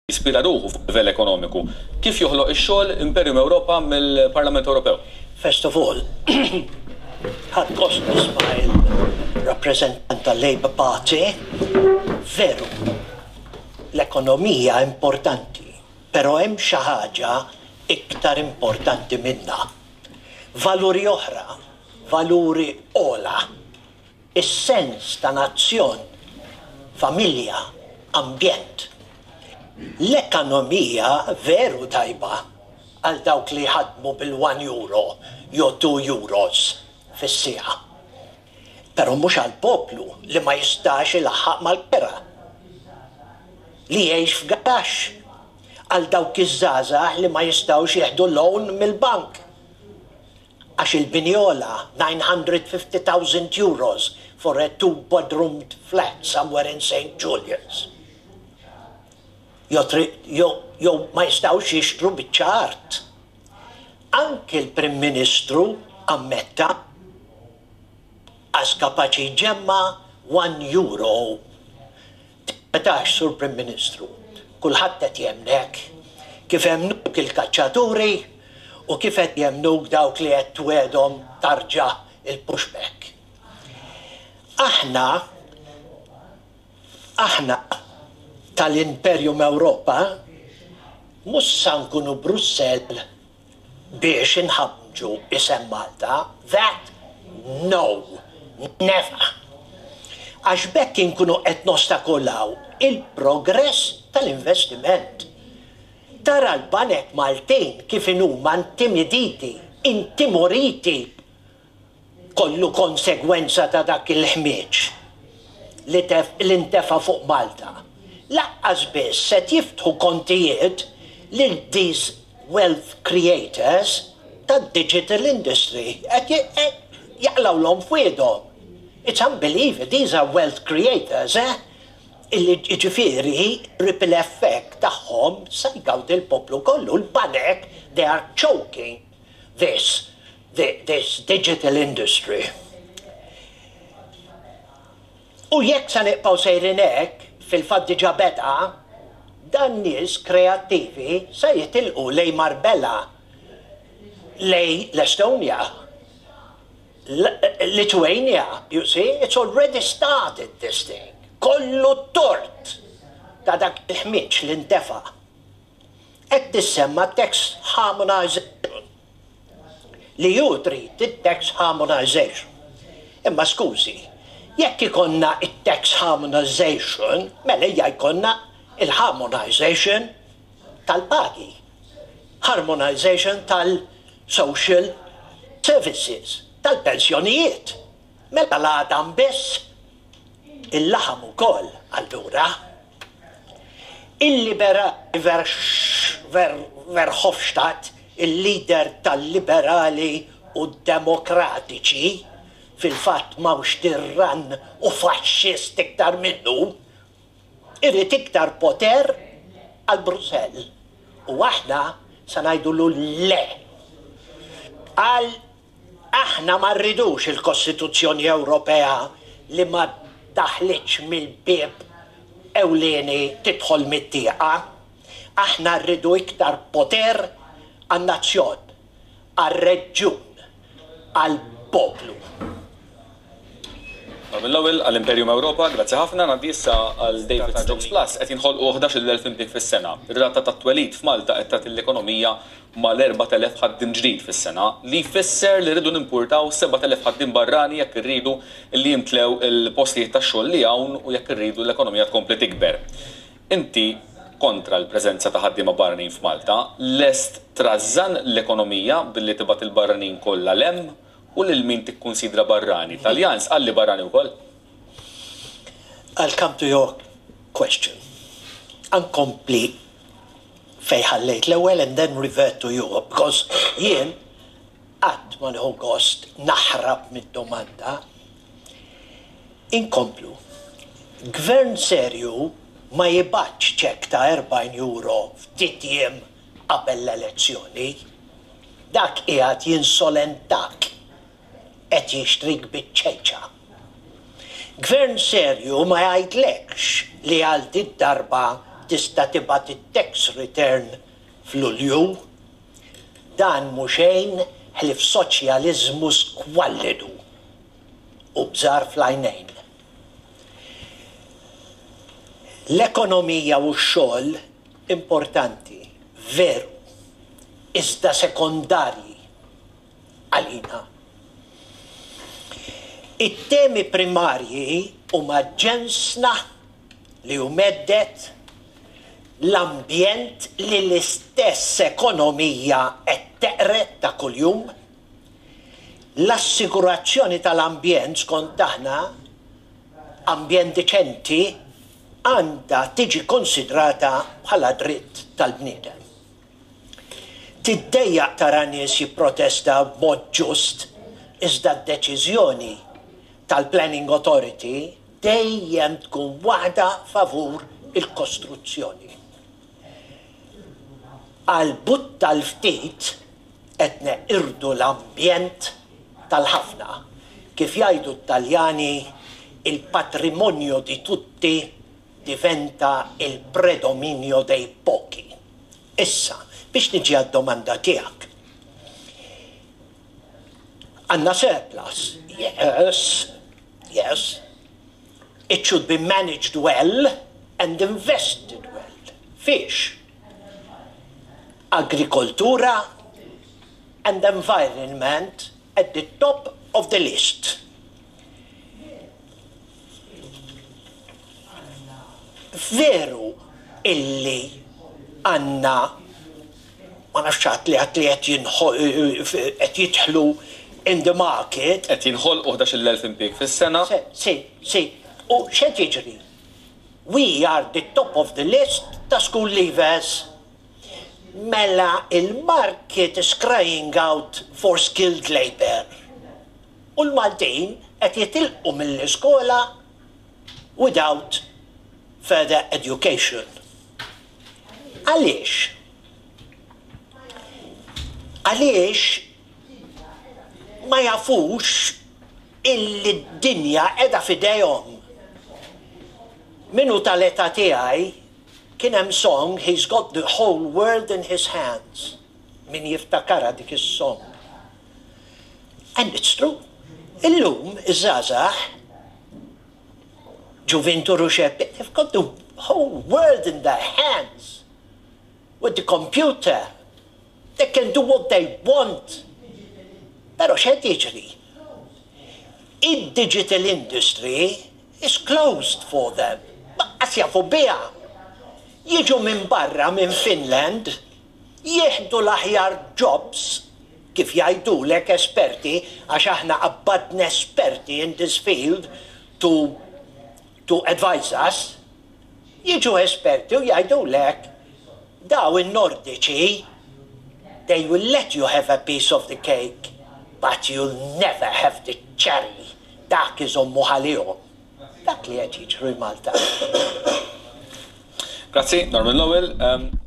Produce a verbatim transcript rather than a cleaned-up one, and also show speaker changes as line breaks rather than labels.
Jispira ruħu fuq livell ekonomiku. Kif joħloq ix-xogħol Imperium Ewropa mill-Parlament Ewropew?
First of all, ħadt gost nisma' il-rappresentant tal-Labour Party. Veru, l-ekonomija importanti, pero hemm xi ħaġa iktar importanti minna. Valuri oħra, valuri ogħla, is-sens ta' nazzjon, familja, ambjent. L-ekonomija veru tajba għal dawk li ħadmu bil-one euro jew two euros fis-siegħa. Però mhux għal poplu li ma jistax ilaħħaq mal-kera. Li jgħix f'garaxx, għal dawk iż-żgħażagħ li ma jistgħux jieħdu loan mill-bank. Għax il-bini għola nine hundred fifty thousand euros for a two-bedroom flat somewhere in Saint Julian's. Jew jew ma jistgħux jixtru biċċa art. Anki l-Prim Ministru ammetta għax kapaċi jġemma' one euro. Metax, Sur Prim Ministru, kulħadd qed jemmnek, kif emmnuk il-kaċċaturi u kif qed jemmnuk dawk li qed twegħedhom tarġa' il-pushback. Aħna aħna tal-Imperium Ewropa mhux sa nkunu Brussell biex inħamġu isem Malta. That, no, never. Għax b'hekk inkunu qed nostakolaw il-progress tal-investiment. Tara l-banek Maltin kif inhuma intimiditi, intimoriti, kollu konsegwenza ta' dak il-ħmieġ li tef- li ntefa fuq Malta. Lanqas biss se jiftħu kontijiet lil these wealth creators tad-digital industry. Qed jaqlgħulhom fwiedhom. It's unbelievable. These are wealth creators, eh? Illi ġifieri ripple effect tagħhom sa jgawdi l-poplu kollu. L-banek, they are choking this, the, this digital industry. U jekk sa nibqgħu sejrin hekk, fil-fatt diġà beda, dan nies kreattivi sa jitilqu lejn Marbella, lejn l-Estonia, Lithuania, you see, it's already started, this thing. Kollu tort ta' dak il-ħmieġ li ntefa'. Qed tissemma tax harmonization. Li ju trid it-tax harmonization. Imma skużi, jekk ikonna it-tax harmonization, mela hija jkollna il-harmonization tal-pagi, harmonization tal-social services, tal-pensjonijiet. Mela l-għadam biss, il-laħam ukoll allura. Il-liberali Verhofstadt, il-leader tal-liberali u demokratiċi, fil-fatt m'hawnx tirran u faxxist iktar minnu, irid iktar poter għal Brussell. U aħna sa ngħidulu le. Għal aħna ma rridux il-Kostituzzjoni Ewropea li ma daħlitx mill-bib ewlieni, tidħol mit-tieqa. Aħna rridu iktar poter għan-nazzjon, għal-reġjun, għal-poplu.
Mill-ewwel għall-Imperium Ewropa, grazzi ħafna, ngħaddi issa għal David. Jobs Plus qed jinħolqu ħdax-il elf impjieg fis-sena. Ir-rata tat-twelid f'Malta qed tagħti l-ekonomija mal-erbat elef ħaddiem ġdid fis-sena, li jfisser li rridu nimpurtaw sebat elef ħaddiem barrani jekk irridu li jimtlew il-postijiet tax-xogħol li hawn u jekk irridu l-ekonomija tkompli tikber. Inti kontra l-preżenza ta' ħaddiema barranin f'Malta, lest trażżan l-ekonomija billi tibgħat il-barranin kollha 'l hemm, u lil min tikkunsidra barrani? Taljan sqalli barrani wkoll?
I'll come to your question. Inkompli fejn ħallejt l-ewwel and then revert to you, because jien qatt ma nieħu gost naħrab mid-domanda. Inkomplu. Gvern serju ma jibgħatx ċekk ta' erbgħin euro ftit jiem qabel l-elezzjoni. Dak qiegħed jinsolentak, qed jixtrik biċ-ċejċa. Gvern serju ma jgħidlekx li għal dit darba Qatt tista' tibgħat it-tax return f'Lulju. Dan mhu xejn ħlief soċjaliżmu skwallidu u bżar fl-għajnejn. L-ekonomija u x-xogħol importanti, veru, iżda sekondarji għalina. It-temi primarji huma ġensna li hu mhedded, l-ambjent li l-istess ekonomija qed teqred ta' kuljum, l-assigurazzjoni tal-ambjent. Skont aħna, ambjent diċenti għandha tiġi konsidrata bħala dritt tal-bniedem. Tiddejjaq tara nies jipprotesta b'mod ġust, iżda d-deċiżjoni tal-Planning Authority dejjem tkun waħda favur il-kostruzzjoni. Għal but tal-ftit qed neqirdu l-ambjent tal-ħafna. Kif jgħidu t-Taljani, "Il patrimonio di tutti diventa il predominio dei pochi." Issa, biex niġi għad-domanda tiegħek. Għandna surplus? Yes, yes. It should be managed well and invested well. Fish, agrikoltura and environment at the top of the list. Veru illi għandna, ma nafx, li għat li qed jidħlu in the market.
Qed jinħolqu ħdax-il elf impjieg fis-sena.
Si, si. U x'qed jiġri? We are the top of the list ta' school leavers. Mela il-market is crying out for skilled labor. U l-Maltin qed jitilqu mill-iskola without further education. Għaliex? Għaliex ma jafux illi d-dinja qiegħda f'idejhom? Min hu tal-età tiegħi, kien hemm song, "He's Got the Whole World in His Hands." Min jiftakarha dik is-song? And it's true. Illum, iż-żgħażagħ, ġuvintur u xebbi, they've got the whole world in their hands. With the computer. They can do what they want. Però x'qed jiġri? Id-digital industry is closed for them. Lanqas jafu biha. Jiġu minn barra, minn Finland, jieħdu l-aħjar jobs, kif jgħidulek esperti, għax aħna qabbadna esperti in this field to, to advise us, jiġu esperti u jgħidulek daw in-Nordiċi, they will let you have a piece of the cake, but you'll never have the cherry. Dak iżommu għalihom. Dak li qed jiġri Malta.
Grazzi, Norman Lowell. Um,